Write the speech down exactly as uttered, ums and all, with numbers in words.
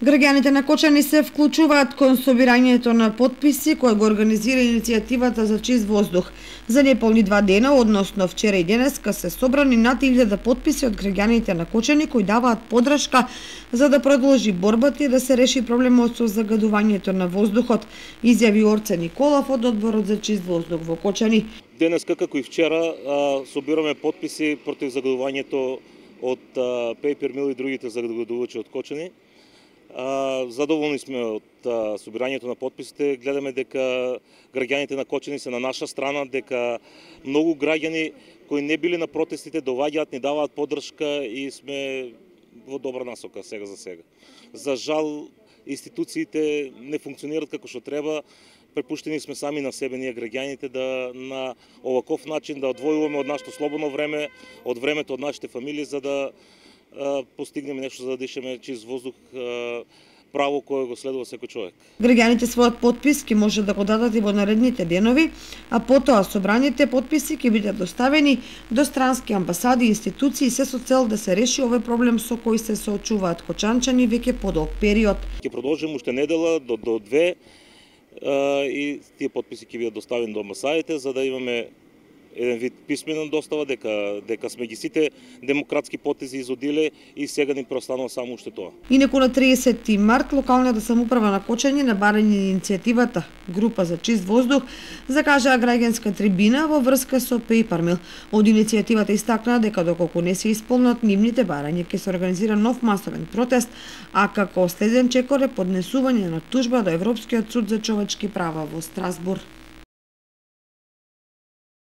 Граѓаните на Кочани се вклучуваат кон собирањето на потписи кој го организира иницијативата за чист воздух. За неполни два дена, односно вчера и денеска, се собрани над илјада потписи од граѓаните на Кочани кои даваат подршка за да продолжи борбата и да се реши проблемот со загадувањето на воздухот, изјави Орце Николов од Одборот за чист воздух во Кочани. Денеска, како и вчера, собираме потписи против загадувањето од Paper Mill и другите загадувачи од Кочани. Задоволни сме од собирањето на потписите, гледаме дека граѓаните на Кочани се на наша страна, дека многу граѓани кои не били на протестите доаѓаат, ни даваат поддршка и сме во добра насока сега за сега. За жал, институциите не функционираат како што треба. Препуштени сме сами на себе, ние граѓаните, да на оваков начин да одвојуваме од нашето слободно време, од времето од нашите фамилии, за да постигнеме нешто, за да дишеме чист воздух, право кое го следува секој човек. Граѓаните својот потпис ќе може да го дадат и во наредните денови, а потоа собраните потписи ќе бидат доставени до странски амбасади и институции, се со цел да се реши овој проблем со кој се соочуваат кочанчани веќе подолг период. Ќе продолжиме уште недела до до две и тие потписи ќе бидат доставени до амбасадите, за да имаме еден вид писмена достава дека дека сме ги сите демократски потези изодиле и сега ни преостанува само уште тоа. Инаку на триесетти март локалната самоуправа на Кочани на барање иницијативата Група за чист воздух закажаа граѓанска трибина во врска со Paper Mill. Од иницијативата истакнаа дека доколку не се исполнат нивните барања ќе се организира нов масовен протест, а како следен чекор е поднесување на тужба до Европскиот суд за човечки права во Страсбург.